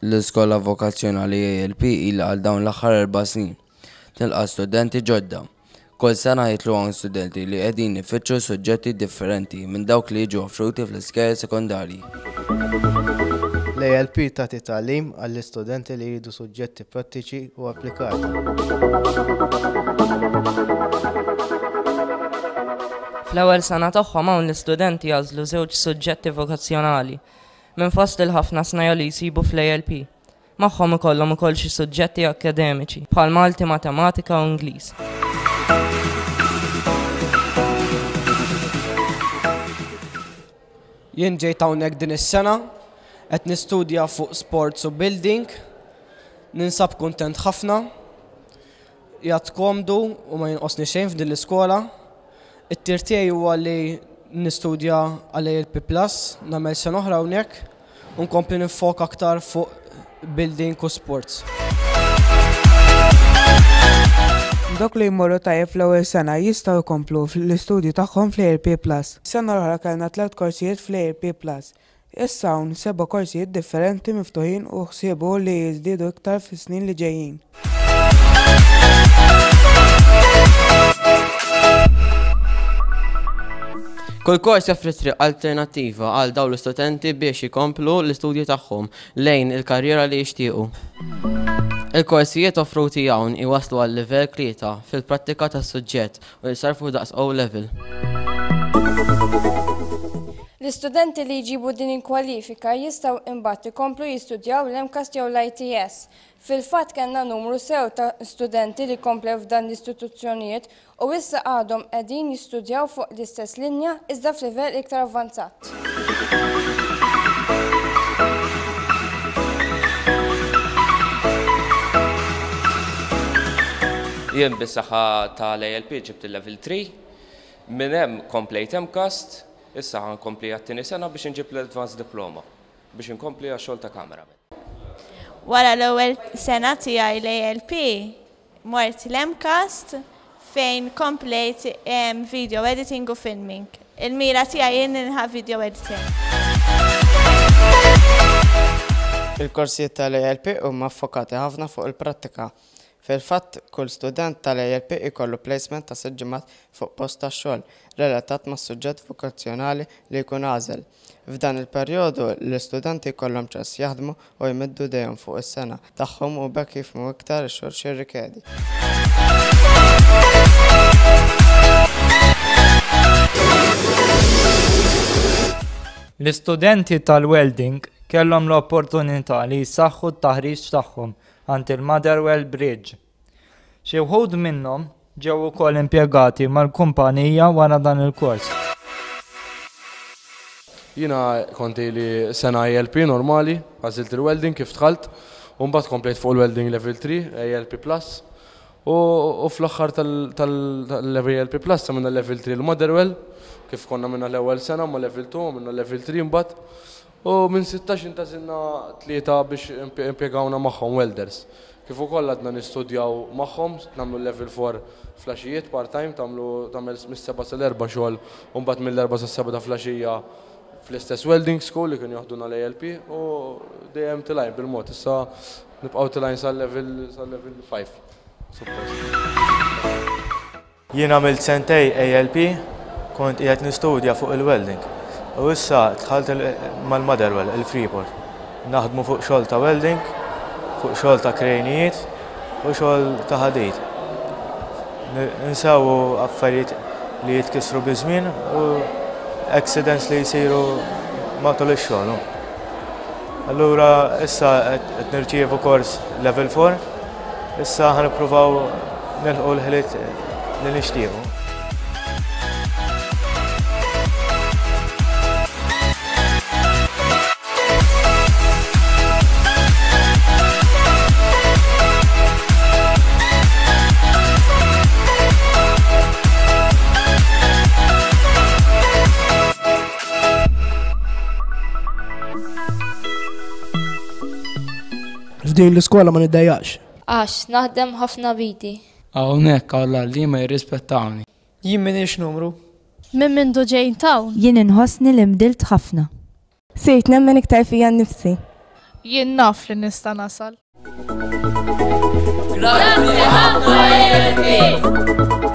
L-Iskola Vokazzjonali ALP ilha għal dawn l-aħħar erba' snin tilqa' studenti ġodda. Kull sena jidħlu hawn studenti li qegħdin ifittxu suġġetti differenti minn dawk li jiġu offruti fl-iskejjel sekondarji. L-ALP tagħti tagħlim għall-istudenti li jridu suġġetti prattiċi u applikati. Fl-ewwel sena tagħhom hawn l-istudenti jagħżlu żewġ suġġetti vokazzjonali minn fost il-ħafna snajja' li jsibu fl-ALP. Magħhom ikollhom ukoll xi suġġetti akkademiċi, bħal Malti, Matematika u Ingliż. Jien ġejt hawnhekk din is-sena, qed nistudja fuq sports u building, ninsab kuntent ħafna, qiegħed komdu u ma jinqosni xejn f'din l-iskola. It-tir tiegħi huwa li nistudja għal ALP Plus, nagħmel sena oħra hawnhekk u nkompli nifoka aktar fuq building u sports. Dawk li jmorru tajjeb fl-ewwel sena jistgħu jkomplu l-istudju tagħhom fl-ALP Plus. Sena l-oħra kellna tlett korsijiet fl-ALP Plus. Issa hawn seba' korsijiet differenti miftuħin u ħsiebu li jiżdiedu iktar fis-snin li ġejjin. Kull kors joffri triq alternattiva għal dawn l-istudenti biex ikomplu l-istudji tagħhom lejn il-karriera li jixtiequ. Il-korsijiet offruti hawn iwasslu għal livell 3 fil-prattika tas-suġġett u jissarrfu daqs O Level. L-istudenti li jġibu din il-kwalifika jistgħu imbagħad ikomplu jistudjaw l-MCAST jew l-ITS. Fil-fatt kellna numru sew ta' studenti li komplew f'dan l-istituzzjonijiet u issa għadhom qegħdin jistudjaw fuq l-istess linja iżda f'livell iktar avvanzat. Jien bis-saħħa tal-ALP ġibt il-level 3, minn hemm komplejt MCAST, issa ħa nkompli għat-tieni sena biex inġib l-Advanced Diploma biex inkompli għax-xogħol ta' cameraman. Wara l-ewwel sena tiegħi l-ALP mort l-MCAST fejn komplejt video editing u filming. Il-mira tiegħi hi nilħaq video editor. Il-korsijiet tal-ALP huma ffokati ħafna fuq il-prattika. Fil-fatt, kull student tal-ALP ikollu placement ta' sitt ġimgħat fuq post tax-xogħol relatat mas-suġġett vokazzjonali li jkun għażel. F'dan il-perjodu, l-istudenti jkollhom ċans jaħdmu u jmiddu idejhom fuq is-sengħa tagħhom u b'hekk jifhmu iktar ix-xogħol x'jirrikjedi. L-istudenti tal-welding kellhom l-opportunità li jsaħħu t-taħriġ tagħhom għand il-Motherwell Bridge. Xi wħud minnhom ġew ukoll impjegati mal-kumpanija wara dan il-kors. Jiena kont ili sena ALP normali, għażilt il-welding kif dħalt, u mbagħad komplejt fuq il-welding level 3, ALP Plus, u fl-aħħar tal-ALP Plus għamilna level 3 l-Motherwell, kif konna għamilna l-ewwel sena ma' level 2 għamilna level 3 mbagħad, U minn 16 intgħażilna tlieta biex impjegawna magħhom welders. Kif ukoll għadna nistudjaw magħhom, nagħmlu level 4 flaxijiet part time, tagħmlu tagħmel mis-sebgħa sal-erbgħa xogħol u mbagħad mill-erbgħa sas-sebgħa ta' flaxija fl-istess welding school li kienu joħduna l-ALP u dejjem tilgħin bil-mod. Issa nibqgħu tilgħin sal-level sal-level 5 suppost. Jien għamilt sentej ALP, kont qiegħed nistudja fuq il-welding u issa dħalt mal-Motherwell, il-Freeport. Naħdmu fuq xogħol ta' welding, fuq xogħol ta' krejnijiet u xogħol ta' ħadid. Insewwu affarijiet li jitkissru biż-żmien u accidents li jsiru matul ix-xogħol. Allura issa qed nirċievu kors level 4 Issa ħa nippruvaw nilħqu l-ħiliet li nixtiequ. F'din l-iskola ma niddejjaqx. Għax naħdem ħafna b'idi. Hawnhekk hawn l-għalliema jirrispettawni. Jien m'iniex numru. Minn mindu ġejt hawn. Jien inħossni li nbdilt ħafna. Sirt nemmen iktar fija nnifsi. Jien naf li nista' nasal. Grazzi ħafna ALP!